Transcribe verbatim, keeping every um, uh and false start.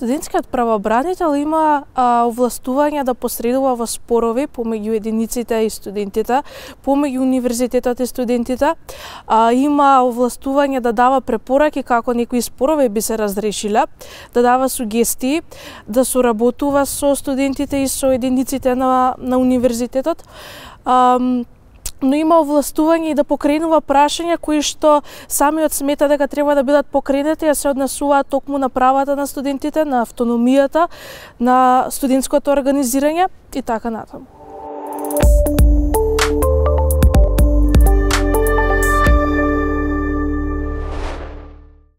Студентскиот правобранител има а, овластување да посредува во спорови помеѓу единиците и студентите, помеѓу универзитетот и студентите, а, има овластување да дава препораки како некои спорови би се разрешиле, да дава сугестии, да соработува со студентите и со единиците на, на универзитетот. А, но има овластување и да покренува прашања кои што самиот смета дека треба да бидат покренети, а се однесуваат токму на правата на студентите, на автономијата, на студентското организирање и така натаму.